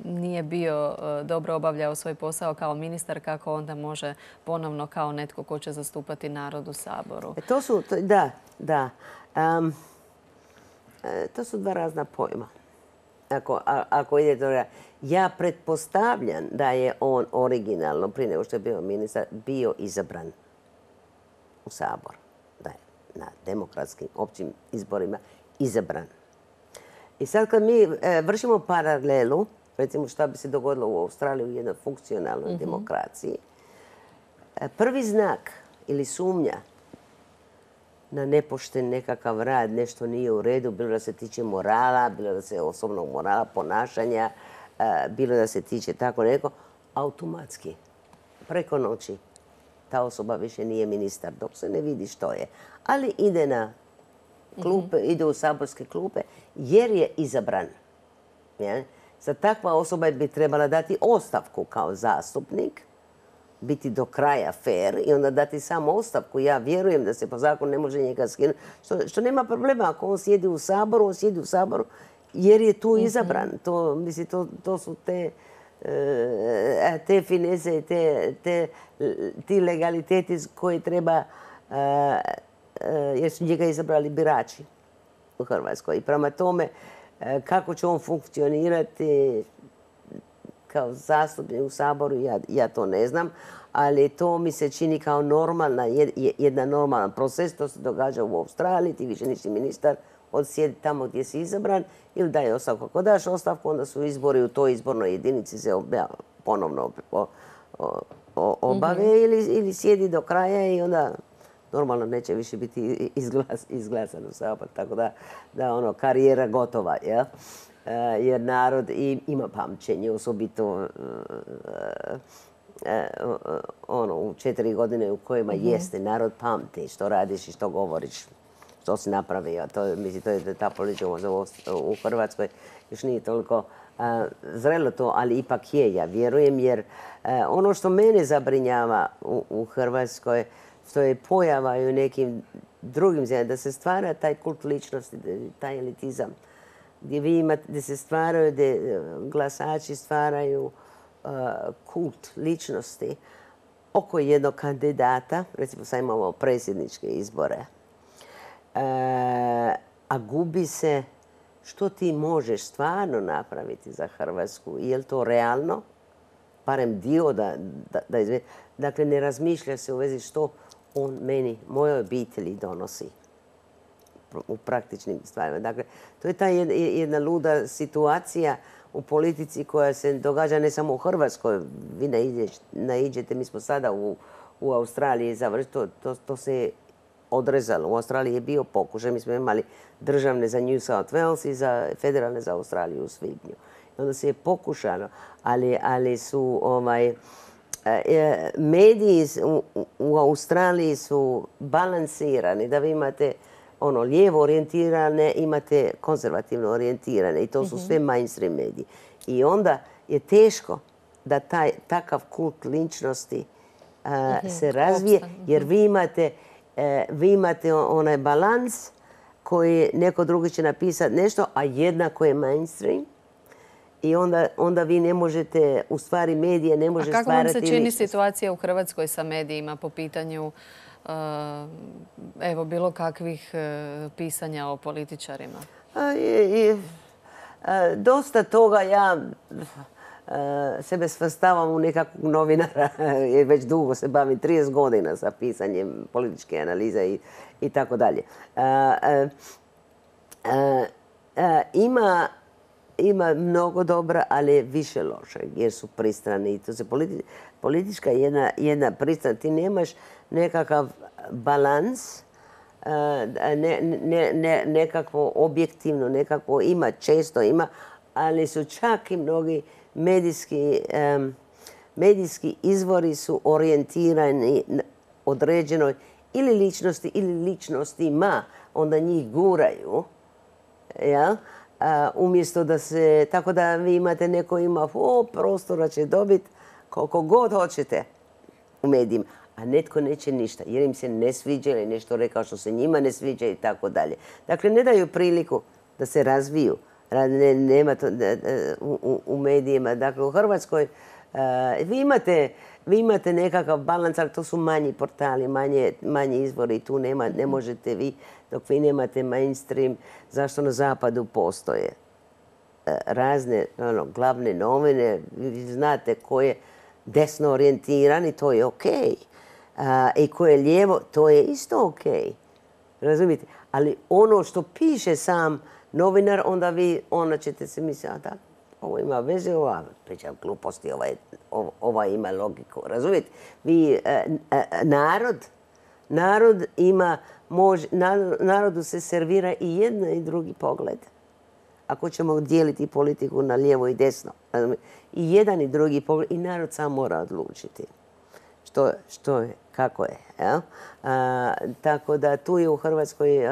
A: nije bio dobro obavljao svoj posao kao ministar, kako onda može ponovno kao netko ko će zastupati narod u Saboru?
B: To su, da, da. Um, to su dva razna pojma. Ako, a, ako ide to, ja pretpostavljam da je on originalno, prije nego što je bio ministar, bio izabran u Sabor. Da je na demokratskim općim izborima izabran. I sad kad mi e, vršimo paralelu, recimo šta bi se dogodilo u Australiji u jednoj funkcionalnoj mm-hmm. demokraciji, e, prvi znak ili sumnja na nepošten nekakav rad, nešto nije u redu, bilo da se tiče morala, bilo da se osobnog morala, ponašanja, bilo da se tiče tako neko, automatski, preko noći, ta osoba više nije ministar, dok se ne vidi što je. Ali ide na klupe, mm-hmm. ide u saborske klupe, jer je izabran. Ja? Za takva osoba bi trebala dati ostavku kao zastupnik, biti do kraja fair i onda dati samo ostavku. Ja vjerujem da se po zakonu ne može njega skinuti. Što, što nema problema ako on sjedi u Saboru, on sjedi u Saboru jer je tu izabran. Mm-hmm. To, mislim, to, to su te, e, te finese, te, te, ti legaliteti koji treba, e, e, jer su njega izabrali birači u Hrvatskoj. I prema tome, e, kako će on funkcionirati kao zastupnik u Saboru, ja, ja to ne znam, ali to mi se čini kao normalna, jedna normalan proces. To se događa u Australiji, ti više nisi ministar, odsjedi tamo gdje si izabran ili daje ostavku. Ako daš ostavku, onda su izbori u toj izbornoj jedinici se ponovno obave mm-hmm. ili, ili sjedi do kraja i onda normalno neće više biti izglas, izglasan u Sabor. Tako da, da ono, karijera gotova, ja? Jer narod ima pamćenje, osobito uh, uh, uh, ono, u četiri godine u kojima mm-hmm. jeste, narod pamti što radiš i što govoriš, što si napravio. To, mislim, to je ta politika u Hrvatskoj još nije toliko uh, zrelo to, ali ipak je, ja vjerujem, jer uh, ono što mene zabrinjava u, u Hrvatskoj, što je pojava i u nekim drugim zemljama, da se stvara taj kult ličnosti, taj elitizam, gdje vi imate, gdje se stvaraju, gdje glasači stvaraju uh, kult ličnosti oko jednog kandidata, recimo sad imamo predsjedničke izbore, uh, a gubi se što ti možeš stvarno napraviti za Hrvatsku. Je li to realno? Barem dio da, da, da izvede. Dakle, ne razmišlja se u vezi što on meni, mojoj obitelji donosi u praktičnim stvarima. Dakle, to je ta jedna luda situacija u politici koja se događa ne samo u Hrvatskoj. Vi naiđete, mi smo sada u, u Australiji završili, to, to, to se je odrezalo. U Australiji je bio pokušaj, mi smo imali državne za New South Wales i za federalne za Australiju u svibnju. I onda se je pokušano, ali, ali su ovaj, e, mediji u, u Australiji su balansirani, da vi imate ono lijevo orijentirane, imate konzervativno orijentirane i to su sve mainstream mediji. I onda je teško da taj takav kult ličnosti uh, se razvije, jer vi imate, uh, vi imate onaj balans koji neko drugi će napisati nešto, a jednako je mainstream. I onda, onda vi ne možete, u stvari medije ne može stvarati...
A: A kako vam se čini situacija u Hrvatskoj sa medijima po pitanju Uh, evo, bilo kakvih uh, pisanja o političarima?
B: A, i, i, a, dosta toga ja sebe svrstavam u nekakvog novinara, jer već dugo se bavim, trideset godina sa pisanjem političke analize i, i tako dalje. Ima, ima mnogo dobra, ali više loše, jer su pristrani. I to se politi, politička jedna, jedna pristrana. Ti nemaš nekakav balans, ne, ne, ne, nekakvo objektivno, nekakvo ima, često ima, ali su čak i mnogi medijski, um, medijski izvori su orijentirani na određenoj ili ličnosti ili ličnostima, onda njih guraju, ja? A, umjesto da se, tako da vi imate, neko ima, o, prostora će dobiti koliko god hoćete u medijima, a netko neće ništa, jer im se ne sviđa ili nešto rekao što se njima ne sviđa i tako dalje. Dakle, ne daju priliku da se razviju. Ne, nema to u, u medijima. Dakle, u Hrvatskoj uh, vi, imate, vi imate nekakav balans, ali to su manji portali, manje, manji izvori. Tu nema, ne možete vi, dok vi nemate mainstream, zašto na zapadu postoje uh, razne ono, glavne novine. Vi znate ko je desno orijentiran i to je okej. Uh, I ko je lijevo, to je isto okej. Razumijete? Ali ono što piše sam novinar, onda vi, onda ćete se misliti, a da, ovo ima veze, ova priča gluposti, ova, ova, ova ima logiku. Razumijete? Vi, e, e, narod, narod ima, mož, narodu se servira i jedan i drugi pogled. Ako ćemo dijeliti politiku na lijevo i desno. Razumijete? I jedan i drugi pogled, i narod sam mora odlučiti. Što, što je, kako je. Ja? A, tako da tu je u Hrvatskoj a,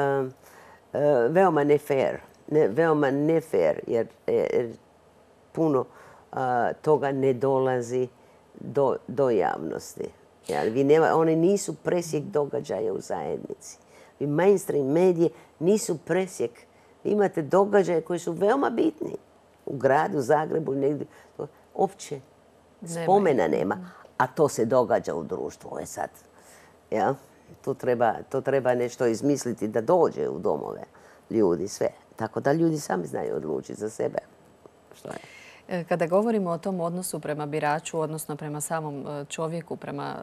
B: a, veoma ne fair. Ne, veoma ne fair, jer, jer puno a, toga ne dolazi do, do javnosti. Jer vi nema, oni nisu presjek događaja u zajednici. Vi mainstream medije nisu presjek. Vi imate događaje koji su veoma bitni. U gradu, Zagrebu, negdje. Opće spomena nema. A to se događa u društvu. Ovo je sad. Ja? To, treba, to treba nešto izmisliti da dođe u domove ljudi, sve. Tako da ljudi sami znaju odlučiti za sebe. Što je?
A: Kada govorimo o tom odnosu prema biraču, odnosno prema samom čovjeku, prema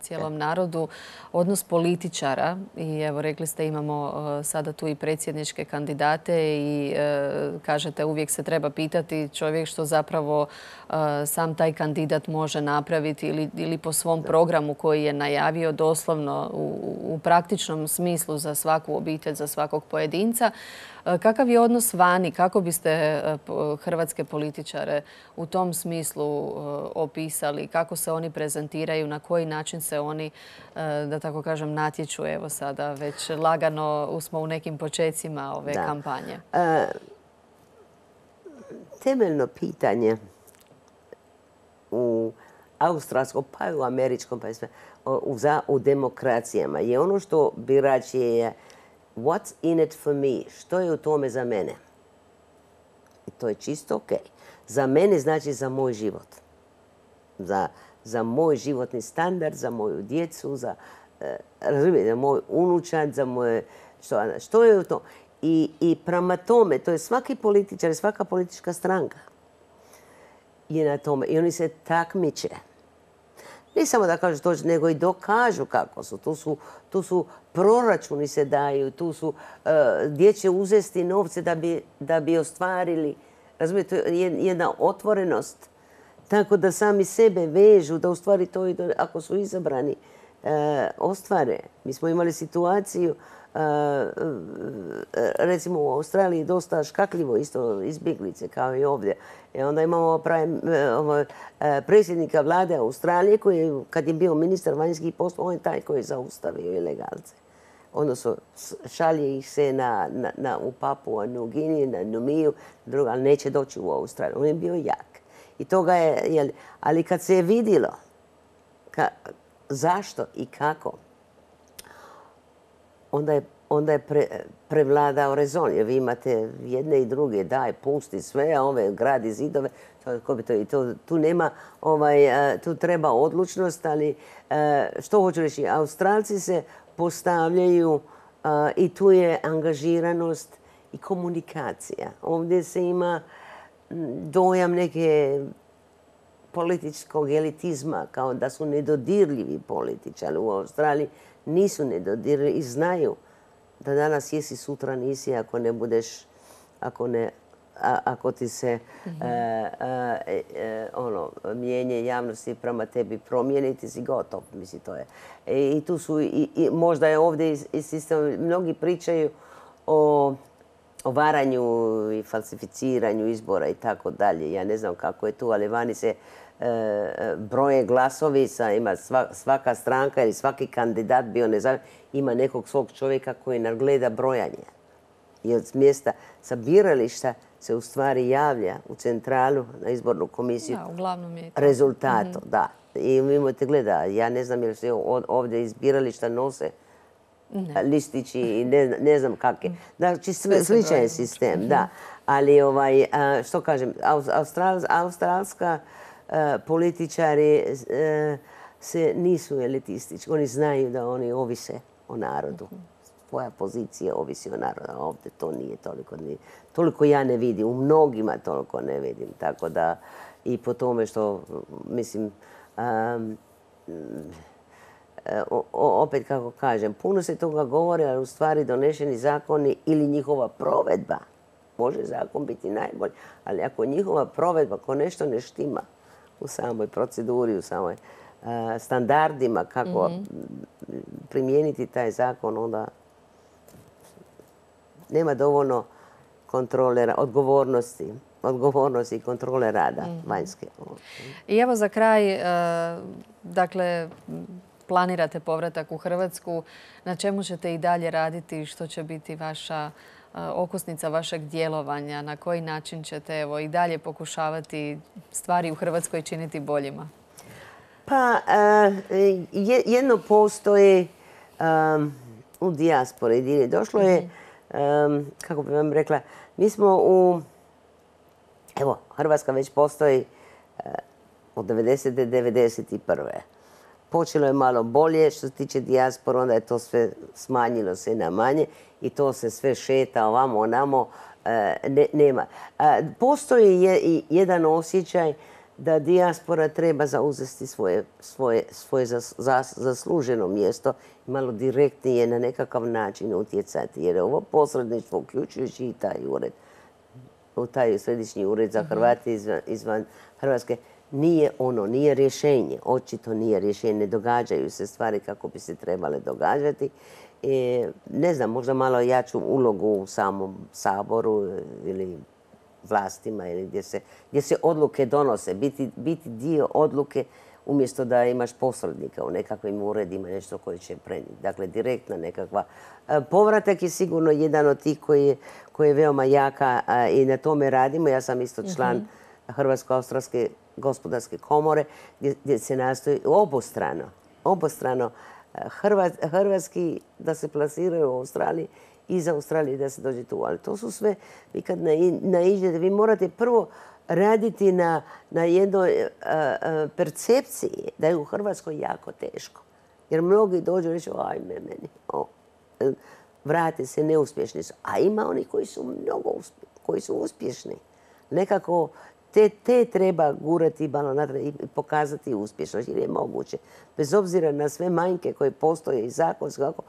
A: cijelom narodu, odnos političara, i evo rekli ste imamo sada tu i predsjedničke kandidate i kažete uvijek se treba pitati čovjek što zapravo sam taj kandidat može napraviti ili, ili po svom programu koji je najavio doslovno u, u praktičnom smislu za svaku obitelj, za svakog pojedinca. Kakav je odnos vani? Kako biste hrvatske političare u tom smislu opisali? Kako se oni prezentiraju? Na koji način se oni, da tako kažem, natječu? Evo sada već lagano smo u nekim počecima ove da. kampanje. E,
B: temeljno pitanje u australskom pa i u američkom pa i sve, u, u demokracijama je ono što birač je what's in it for me? Što je u tome za mene? I to je čisto ok. Za mene znači za moj život. Za, za moj životni standard, za moju djecu, za, eh, razumijete, za moj unučad, za moje... Što, što je u to? I, I prema tome, to je svaki političar, svaka politička stranka je na tome. I oni se takmiče. Ne samo da kažu to, nego i dokažu kako su. Tu su, tu su proračuni se daju, tu su uh, gdje će uzesti novce da bi, da bi ostvarili. Razumijete, to je jedna otvorenost. Tako da sami sebe vežu, da u stvari to i do, ako su izabrani, uh, ostvare. Mi smo imali situaciju, uh, recimo u Australiji dosta škakljivo isto izbjeglice kao i ovdje. I onda imamo pravi, ovo, predsjednika vlade Australije koji, kad je bio ministar vanjskih poslova, on je taj koji je zaustavio ilegalce. Odnosno, šalje ih se na, na, na, u Papua, New Guinea, na Numiju, druga, ali neće doći u Australiju. On je bio jak. I toga je, jel, ali kad se je vidjelo ka, zašto i kako, onda je onda je pre, prevladao rezon. Jer vi imate jedne i druge, daj, pusti sve, a ove gradi zidove. To, bi to, to, tu nema, ovaj, tu treba odlučnost, ali što hoću reći, Australci se postavljaju i tu je angažiranost i komunikacija. Ovdje se ima dojam neke političkog elitizma, kao da su nedodirljivi političari. U Australiji nisu nedodirljivi i znaju da danas jesi, sutra nisi, ako ne budeš, ako ne, a, ako ti se mm-hmm. e, e, e, ono, mijenje javnosti prema tebi promijeni, ti si gotov. Mislim, to je. E, I tu su, i, i možda je ovdje i sistem, mnogi pričaju o o varanju i falsificiranju izbora i tako dalje. Ja ne znam kako je tu, ali vani se e, broje glasovi, sa, ima sva, svaka stranka ili svaki kandidat bio nezavisni, ima nekog svog čovjeka koji nadgleda brojanje. I od mjesta sa birališta se u stvari javlja u centralu na izbornu komisiju
A: da, uglavnom je
B: rezultatom.
A: Mm-hmm.
B: Da. I vi imate gleda, ja ne znam jel se ovdje iz birališta nose Ne. listići i ne, ne znam kakve. Znači, sličan je sistem, mm-hmm. da. Ali, ovaj, što kažem, Austral, australska uh, političari uh, se nisu elitistički. Oni znaju da oni ovise o narodu. Mm-hmm. Tvoja pozicija ovisi o narodu. Ovdje to nije toliko. Nije. Toliko ja ne vidim. U mnogima toliko ne vidim. Tako da i po tome što, mislim, um, O, opet kako kažem, puno se toga govori, ali u stvari donešeni zakoni ili njihova provedba, može zakon biti najbolji, ali ako njihova provedba, ako nešto ne štima u samoj proceduri, u samoj uh, standardima kako mm-hmm. primijeniti taj zakon, onda nema dovoljno kontrole, odgovornosti. odgovornosti i kontrole rada mm-hmm. vanjske.
A: I evo za kraj, uh, dakle, planirate povratak u Hrvatsku, na čemu ćete i dalje raditi, što će biti vaša okosnica vašeg djelovanja, na koji način ćete evo, i dalje pokušavati stvari u Hrvatskoj činiti boljima?
B: Pa, jedno postoji um, u dijaspori. Došlo je, um, kako bih vam rekla, mi smo u, evo, Hrvatska već postoji uh, od devedesete do devedeset prve Počelo je malo bolje što se tiče dijaspora, onda je to sve smanjilo se na manje i to se sve šeta ovamo, onamo, ne, nema. Postoji je i jedan osjećaj da dijaspora treba zauzeti svoje, svoje, svoje zas, zas, zasluženo mjesto i malo direktnije na nekakav način utjecati. Jer ovo posredništvo, uključujući i taj ured, u taj središnji ured za Hrvate izvan, izvan Hrvatske, nije ono, nije rješenje. Očito nije rješenje. Ne događaju se stvari kako bi se trebale događati. E, ne znam, možda malo jaču ulogu u samom Saboru ili vlastima ili gdje se, gdje se odluke donose. Biti, biti dio odluke umjesto da imaš posrednika u nekakvim uredima, nešto koje će prenijeti. Dakle, direktna nekakva. Povratak je sigurno jedan od tih koji je, koji je veoma jaka i na tome radimo. Ja sam isto član mm-hmm. Hrvatsko-australske gospodarske komore gdje, gdje se nastoji obostrano, obostrano Hrvat, hrvatski da se plasiraju u Australiji i iz Australije da se dođe tu. Ali to su sve, vi kad naiđete, vi morate prvo raditi na, na jednoj a, a, percepciji da je u Hrvatskoj jako teško. Jer mnogi dođu i reći, ajme meni, o, vrate se, neuspješni su. A ima oni koji su mnogo uspješni, koji su uspješni. Nekako Te, te treba gurati malo natrag i pokazati uspješnost, jer je moguće. Bez obzira na sve manjke koje postoje i zakonske, kako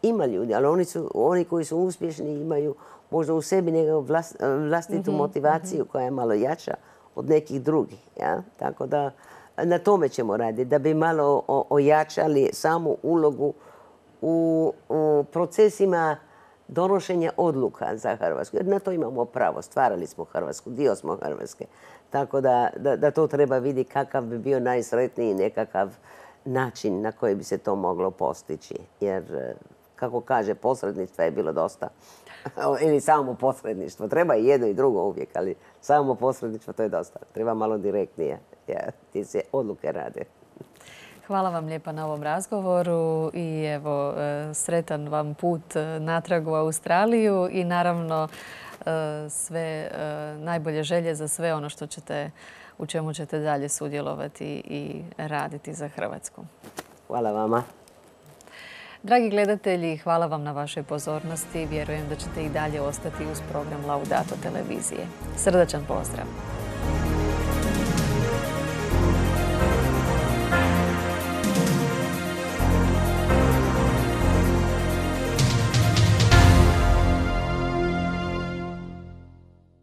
B: ima ljudi, ali oni, su, oni koji su uspješni imaju možda u sebi nekakvu vlast, vlastitu mm-hmm, motivaciju mm-hmm. koja je malo jača od nekih drugih. Ja? Tako da na tome ćemo raditi, da bi malo o, ojačali samu ulogu u, u procesima donošenja odluka za Hrvatsku. Jer na to imamo pravo. Stvarali smo Hrvatsku, dio smo Hrvatske. Tako da, da, da to treba vidjeti kakav bi bio najsretniji nekakav način na koji bi se to moglo postići. Jer, kako kaže, posredništva je bilo dosta. Ili samo posredništvo. Treba i jedno i drugo uvijek, ali samo posredništvo to je dosta. Treba malo direktnije. Ti se odluke rade.
A: Hvala vam lijepa na ovom razgovoru i evo, sretan vam put natrag u Australiju i naravno sve najbolje želje za sve ono što ćete, u čemu ćete dalje sudjelovati i raditi za Hrvatsku.
B: Hvala vama.
A: Dragi gledatelji, hvala vam na vašoj pozornosti. Vjerujem da ćete i dalje ostati uz program Laudato televizije. Srdačan pozdrav!